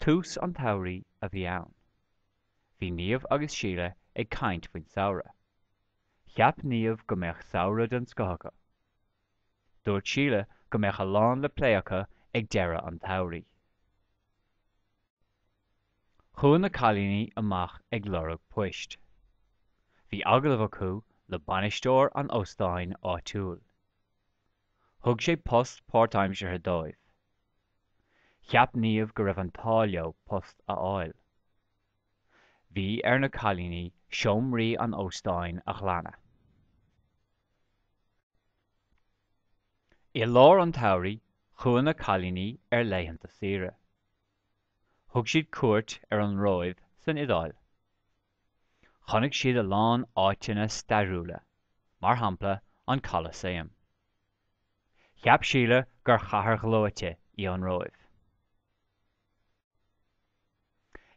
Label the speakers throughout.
Speaker 1: Tús an tsamhraidh a bhí ann. Bhí Niamh agus Síle ag caint faoin samhradh. Cheap Niamh go mbeadh samhradh den scoth acu. Dúirt Síle go mbeadh a lán le plé acu ag deireadh an tsamhraidh. Chuaigh na cailíní amach ag lorg poist. Bhí agallamh acu le bainisteoir an óstáin áitiúil. Thug sé post páirtaimseartha dóibh. Cheap Niamh go raibh an t-ádh leo post a fháil. Bhí ar na cailíní seomraí an óstáin a ghlanadh. I lár an tsamhraidh chuaigh na cailíní ar laethanta saoire. Thug siad cuairt ar an Róimh san Iodáil. Chonaic siad a lán áiteanna stairiúla, mar shampla an Colasaem. Cheap Síle gur chathair ghleoite í an Róimh.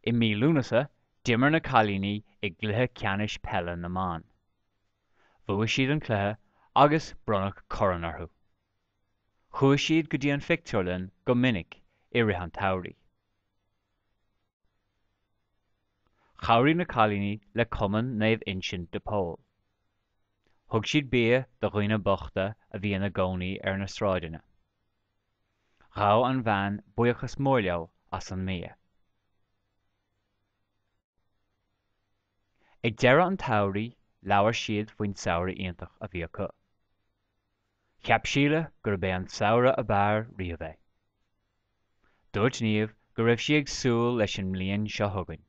Speaker 1: I mí Lúnasa, d'imir na cailíní i gcluiche ceannais peile na mban. Bhuaigh siad an cluiche agus bronnadh corn orthu. Chuaigh siad go dtí an phictiúrlann go minic i rith an tsamhraidh. Chabhraigh na cailíní le Cumann Naomh Uinseann de Pól. Thug siad bia do dhaoine bochta a bhí ina gcónaí ar na sráideanna. Ghabh an bhean buíochas mór leo as an mbia. Ag deireadh an tsamhraidh labhair siad faoin samhradh iontach a bhí acu. Cheap Síle gurb é an samhradh ab fhearr riamh é. Dúirt Niamh go raibh sí ag súil leis an mbliain seo chugainn.